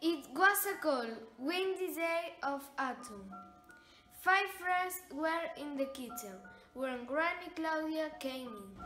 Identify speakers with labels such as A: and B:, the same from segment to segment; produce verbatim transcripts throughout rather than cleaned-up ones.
A: It was a cold, windy day of autumn. Five friends were in the kitchen when Granny Claudia came in.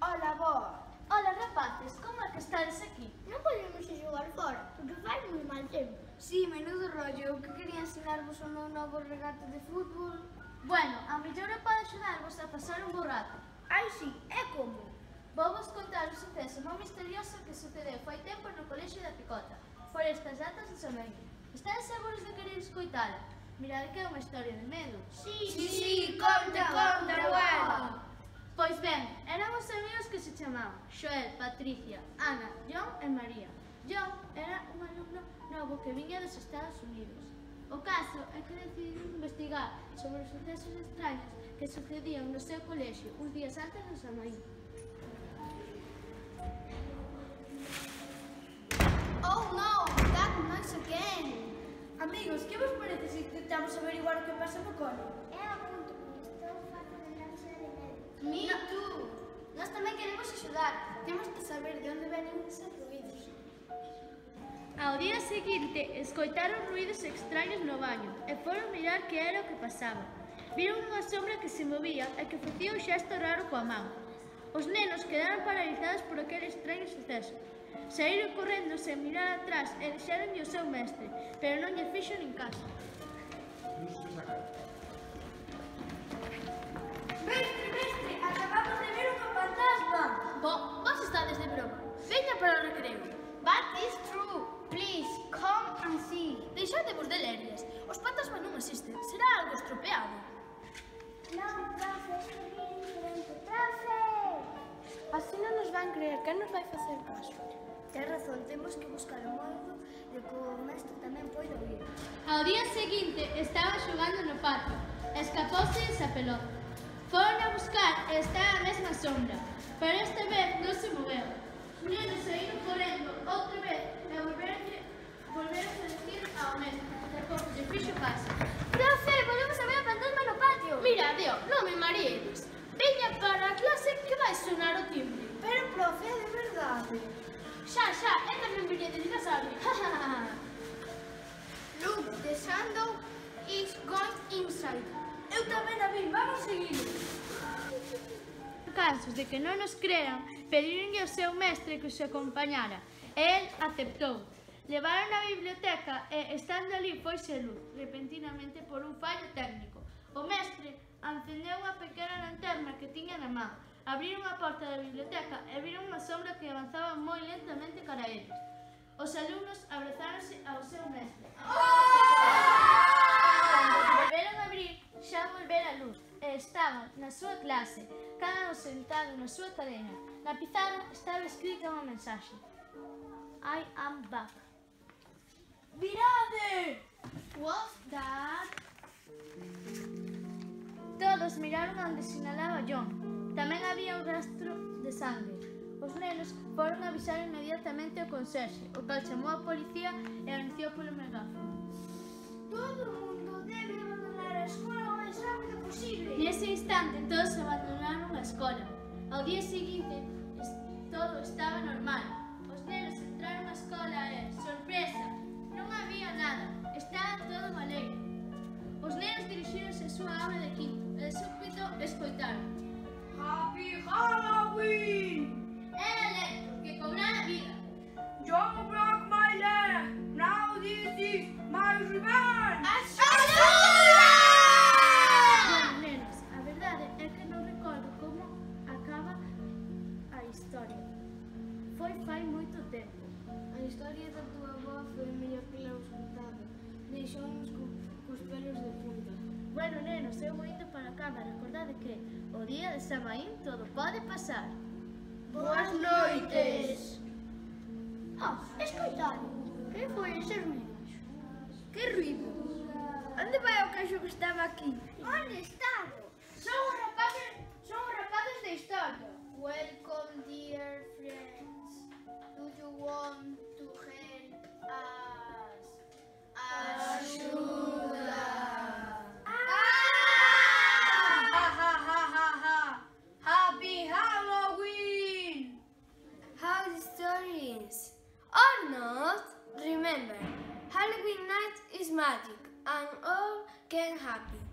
B: Ola, boa. Ola, rapaces, como é que estades aquí?
C: Non podemos ir xogar fora, porque fai moi mal tempo.
A: Sí, menudo rollo, que quería ensinarvos o meu novo regato de fútbol.
B: Bueno, a mellor eu pode axudarvos a pasar un bo rato.
C: Ai, sí, é como?
B: Vou vos contar un suceso moi misterioso que sucedeu fai tempo no colexio da Picota, por estas datas de Samaín. Estades seguros de querer escoitala? Mirade que é unha historia de medo.
C: Sí,
A: Sí, sí, conta, conta, abuela.
B: Pois ben, eran os amigos que se chamaban Xoel, Patricia, Ana, John e María. John era un alumno novo que viña dos Estados Unidos. O caso é que decidiron investigar sobre os sucesos extraños que sucedían no seu colexio uns días antes do Samaín.
C: Oh no, that noise again.
A: Amigos, que vos parece se intentamos averiguar o que pasa no cole?
C: É a punto, porque estou farta de lancha de medo.
B: Me too! Nós tamén queremos axudar.
A: Temos que saber de onde venen eses ruídos.
B: Ao día seguinte, escoitaron ruídos extraños no baño e foron mirar que era o que pasaba. Viron unha sombra que se movía e que facía un xesto raro coa man. Os nenos quedaron paralizados por aquele extraño suceso. Saíron correndo sen mirar atrás e deixaronlle o seu mestre, pero non lle fixo nin caso.
C: Mestre, mestre, acabamos de ver unha fantasma.
B: Bo, vos estades de broma. Veña para o recreo.
C: But it's true. Please, come and see.
B: Deixadevos de lerias. Os fantasmas non existen. Será algo estropeado.
C: Non, profe, isto é bien diferente. Profe!
A: Así non nos van creer, quen nos vai facer caso?
C: Tens razón, temos que buscar o modo de que o mestre tamén poida oír.
B: Ao día seguinte estaba xogando no patio. Escapouse esa pelota. Foron a buscar e estaba a mesma sombra, pero esta vez non se moveu. Os nenos saíron correndo outra vez e volveron volveron a decir ao mestre. Tampouco lle fixo caso.
C: Profe, volvemos a ver a fantasma no patio.
B: Mira, Dio, non me marees. Veña para a clase que vai sonar o timbre.
C: Pero, profe, é de verdade.
B: Xa, xa, é tamén viña de dinosaurio.
C: Look, the shadow is going inside.
A: Eu tamén a vi, vamos seguir.
B: En casos de que non nos crean, pedironlle ao seu mestre que os acompañara, e el aceptou. Levaron á biblioteca e, estando ali, foise luz, repentinamente por un fallo técnico. O mestre encendeu unha pequena lanterna que tiña na man, abriron a porta da biblioteca e viron unha sombra que avanzaba moi lentamente cara a eles. Os alumnos abrazáronse ao seu mestre. Volveron a abrir, xa volvera a luz, e estaban na súa clase, cada un sentado na súa cadeira. Na pizarra estaba escrita unha mensaxe. I am back.
A: Mirade!
B: What's that? Todos miraron onde sinalaba John. Tamén había un rastro de sangue. Os nenos foron avisar inmediatamente ao conserxe, o cal chamou a policía e anunciou polo megáfono.
C: Todo o mundo debe abandonar a escola o máis rápido posible.
B: Nese instante, todos abandonaron a escola. Ao día seguinte, todo estaba normal. Os nenos entraron á escola e, sorpresa, non había nada. Estaba todo alegre. Os nenos dirixíronse á súa aula de quinto e de súbito escoitaron.
A: Happy Halloween!
B: Era Electro, que cobrara vida.
A: John broke my leg! Now this is my revenge!
B: Bueno, nenos, a verdade é que non recordo como acaba a historia. Foi fai moito tempo.
A: A historia da tua avó foi mellor que la escutaba. Deixounos co, cos pelos de punta.
B: Bueno, nenos, eu vou indo para a cama. Recordade que o día de Samaín todo pode pasar.
C: Boas noites. Oh, escoitade. Que foi ese ruido?
A: Que ruido? Onde vai o caixo que estaba aquí?
C: Onde estado?
B: Son os rapaces, son os rapaces da historia.
C: Welcome, dear friends. Do you want to help us? Axuda!
A: Ha ha ha ha ha! Happy Halloween! How the story is? Or not? remember, Halloween night is magic and all can happen.